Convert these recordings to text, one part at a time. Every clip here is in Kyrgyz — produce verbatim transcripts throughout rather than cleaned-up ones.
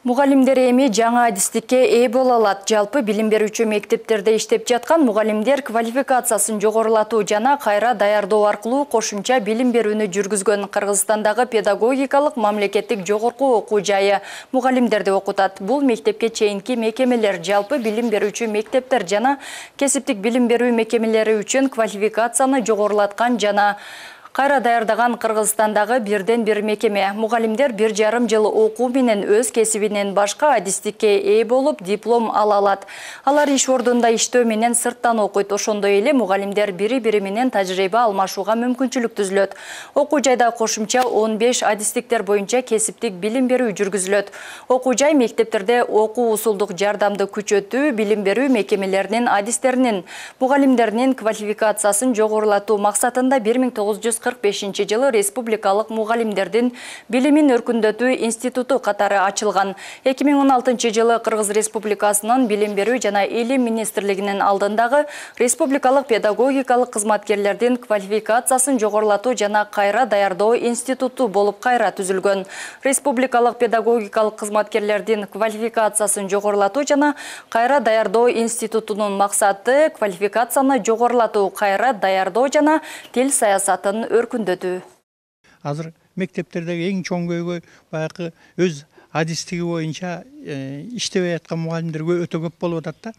Мугалимдер эми жаңа адистикке ээ боло алат. Жалпы билим берүүчү мектептерде иштеп жаткан мугалимдер квалификациясын жогорулатуу жана кайра даярдоо аркылуу кошумча билим берүүнү жүргүзгөн Кыргызстандагы педагогикалык мамлекеттик жогорку окуу жайы мугалимдерди окутат. Бул мектепке чейинки мекемелер, жалпы билим берүүчү мектептер жана кесиптик билим берүү мекемелери үчүн квалификацияны жогорулаткан жана кайра даярдаган Кыргызстандагы бирден бир мекеме. Мугалимдер бир жарым жыл окуу менен өз кесибинен башка адистикке ээ болуп диплом ала алат. Алар иш ордунда иштөө менен сырттан окуйт. Ошондой эле мугалимдер бири-бири менен тажрыйба алмашууга мүмкүнчүлүк түзүлөт. Окуу жайда кошумча он беш адистиктер боюнча кесиптик билим берүү жүргүзүлөт. Окуу жай мектептерде окуу усулдук жардамды күчөтүү, билим берүү мекемелеринин адистеринин, мугалимдеринин квалификациясын жогорулатуу максатында бир миң тогуз жүз кырк бешинчи жылы Республикалык мугалимдердин билимин өркүндөтүү институту катары ачылган. эки миң он алтынчы жылы Кыргыз Республикасынын билим берүү жана илим министрлигинин алдындагы Республикалык педагогикалык кызматкерлердин квалификациясын жогорулатуу жана кайра даярдоо институту болуп кайра түзүлгөн. Республикалык педагогикалык кызматкерлердин квалификациясын жогорулатуу жана кайра даярдоо институтунун максаты квалификацияны жогорулатуу, кайра даярдоо жана тил саясатын өркүндөтүү. Азыр мектептердеги эң чоң көйгөй баягы өз адистиги боюнча иштебей аткан мугалимдер өтө көп болуп атат да.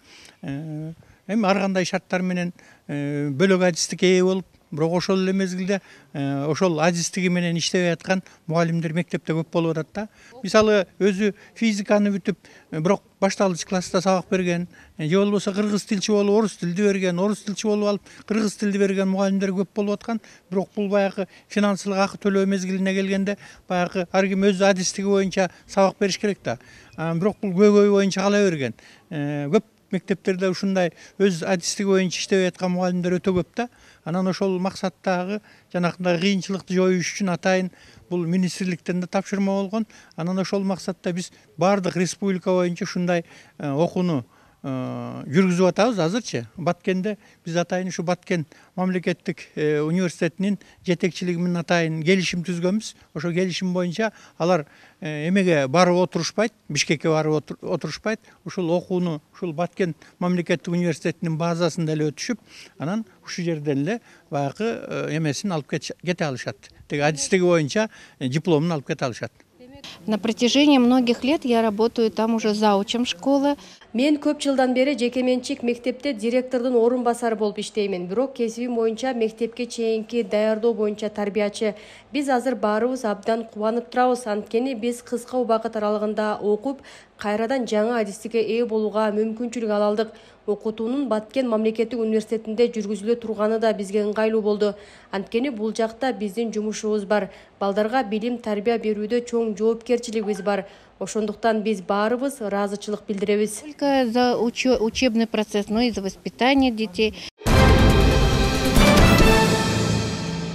Эми ар кандай шарттар менен бөлөк адистикке ээ болуп, бирок ошол эле мезгилде ошол адистиги менен иштебей аткан мугалимдер мектепте көп болуп атат да. Мисалы өзү физиканы бүтүп, бирок башталгыч класста сабак берген, же болбосо кыргыз тилчи болуп орус тилди берген, орус тилчи болуп алып кыргыз тилди берген мугалимдер көп болуп аткан. Бирок бул баягы финансылык акы төлөө мезгилине келгенде баягы ар ким өз адистиги боюнча сабак бериш керек да. Бирок бул көйгөй боюнча кала берген. Көп мектептерде ушундай өз адистиги боюнча иштебей аткан мугалимдер өтө көп да. Анан ошол максаттагы жанакындай кыйынчылыкты жоюш үчүн атайын бул министрликтен да тапшырма болгон. Анан ошол максатта биз бардык республика боюнча ушундай окууну жүргүзүп атабыз азырчы. Баткенде биз атайын ушу Баткен мамлекеттик университетинин жетекчилиги менен атайын келишим түзгөнбүз. Ошо келишим боюнча алар эмеге барып отурушпайт, Бишкекке барып отурушпайт. Ушул окууну ушул Баткен мамлекеттик университетинин базасында эле өтүшүп, анан ушул жерден эле баягы эмесин алып кете алышат. Теги адистиги боюнча дипломун алып кете алышат. На протяжении многих лет я работаю там уже заучем школы. Мен көп жылдан бери жекеменчик мектепте директордун орун басары болуп иштеймин. Бирок кесибим боюнча мектепке чейинки даярдоо боюнча тарбиячы. Биз азыр баарыбыз абдан кубанып турабыз. Анткени биз кыска убакыт аралыгында окуп, кайрадан жаңа адистикке ээ болууга мүмкүнчүлүк ала алдык. Окутуунун Баткен мамлекеттик университетинде жүргүзүлө турганы да бизге ыңгайлуу болду. Анткени бул жакта биздин жумушубуз бар. Балдарга билим тарбия берүүдө чоң жоопкерчилигибиз бар. Ошондуктан биз баарыбыз ыраазычылык билдиребиз. Только за учебный процесс, но и за воспитание детей.